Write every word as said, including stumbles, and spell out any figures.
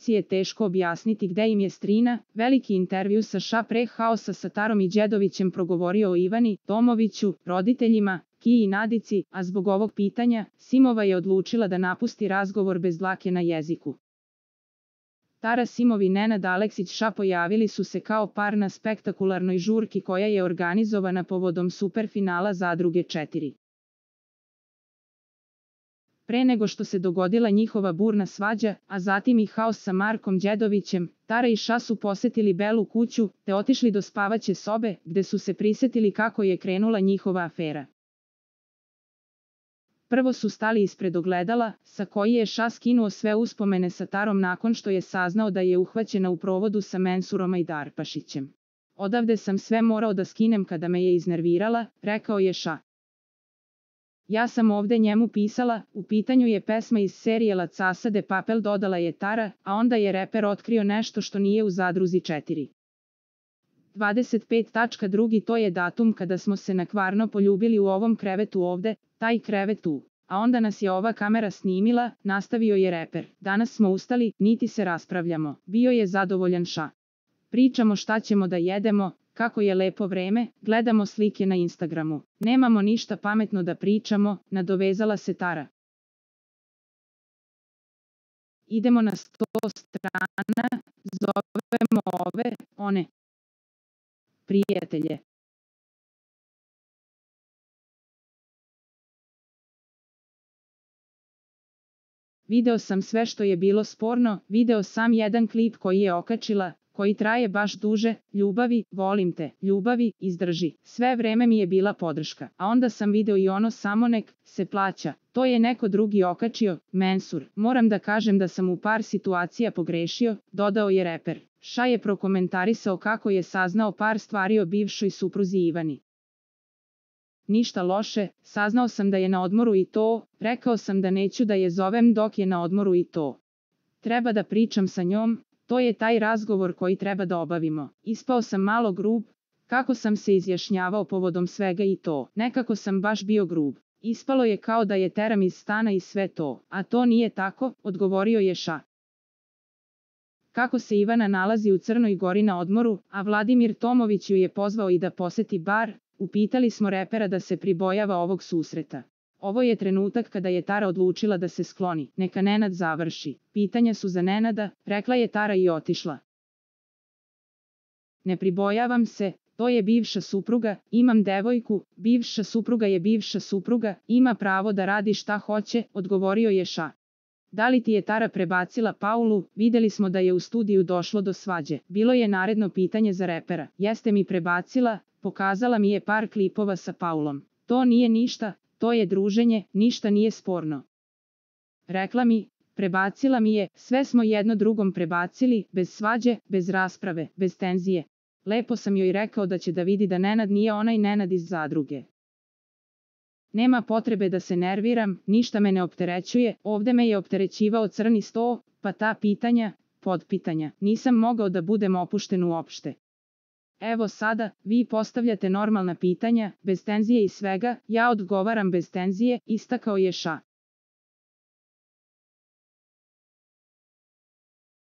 je teško objasniti gde im je Strina. Veliki intervju sa ša pre haosa sa Tarom i Đedovićem progovorio o Ivani, Tomoviću, roditeljima, Kiji i Nadici, a zbog ovog pitanja, Simova je odlučila da napusti razgovor bez dlake na jeziku. Tara Simov i Nenad Aleksić ša pojavili su se kao par na spektakularnoj žurki koja je organizovana povodom superfinala Zadruge četiri. Pre nego što se dogodila njihova burna svađa, a zatim i haos sa Markom Đedovićem, Tara i ša su posetili Belu kuću, te otišli do spavaće sobe, gde su se prisetili kako je krenula njihova afera. Prvo su stali ispred ogledala, sa koji je ša skinuo sve uspomene sa Tarom nakon što je saznao da je uhvaćena u provodu sa Mensurom Ajdarpašićem. Odavde sam sve morao da skinem kada me je iznervirala, rekao je ša. Ja sam ovde njemu pisala, u pitanju je pesma iz serijela Casa de Papel, dodala je Tara, a onda je reper otkrio nešto što nije u Zadruzi četiri. dvadeset pet drugi to je datum kada smo se nakvarno poljubili u ovom krevetu ovde, taj krevet tu. A onda nas je ova kamera snimila, nastavio je reper. Danas smo ustali, niti se raspravljamo. Bio je zadovoljan ša. Pričamo šta ćemo da jedemo, kako je lepo vreme, gledamo slike na Instagramu. Nemamo ništa pametno da pričamo, nadovezala se Tara. Idemo na sto strana, zovemo ove, one prijatelje. Video sam sve što je bilo sporno, video sam jedan klip koji je okačila, koji traje baš duže, ljubavi, volim te, ljubavi, izdrži. Sve vreme mi je bila podrška, a onda sam video i ono samo nek se plaća. To je neko drugi okačio, Mensur. Moram da kažem da sam u par situacija pogrešio, dodao je reper. Ša je prokomentarisao kako je saznao par stvari o bivšoj supruzi Ivani. Ništa loše, saznao sam da je na odmoru i to, rekao sam da neću da je zovem dok je na odmoru i to. Treba da pričam sa njom, to je taj razgovor koji treba da obavimo. Ispao sam malo grub, kako sam se izjašnjavao povodom svega i to, nekako sam baš bio grub. Ispalo je kao da je teram iz stana i sve to, a to nije tako, odgovorio je ša. Kako se Ivana nalazi u Crnoj Gori na odmoru, a Vladimir Tomović ju je pozvao i da poseti bar, upitali smo repera da se pribojava ovog susreta. Ovo je trenutak kada je Tara odlučila da se skloni, neka Nenad završi. Pitanja su za Nenada, rekla je Tara i otišla. Ne pribojavam se, to je bivša supruga, imam devojku, bivša supruga je bivša supruga, ima pravo da radi šta hoće, odgovorio je ša. Da li ti je Tara prebacila Paulu, videli smo da je u studiju došlo do svađe. Bilo je naredno pitanje za repera. Jeste mi prebacila, pokazala mi je par klipova sa Paulom. To nije ništa, to je druženje, ništa nije sporno. Rekla mi, prebacila mi je, sve smo jedno drugom prebacili, bez svađe, bez rasprave, bez tenzije. Lepo sam joj rekao da će da vidi da Nenad nije onaj Nenad iz Zadruge. Nema potrebe da se nerviram, ništa me ne opterećuje, ovde me je opterećivao crni sto, pa ta pitanja, podpitanja, nisam mogao da budem opušten uopšte. Evo sada, vi postavljate normalna pitanja, bez tenzije i svega, ja odgovaram bez tenzije, istakao je ša.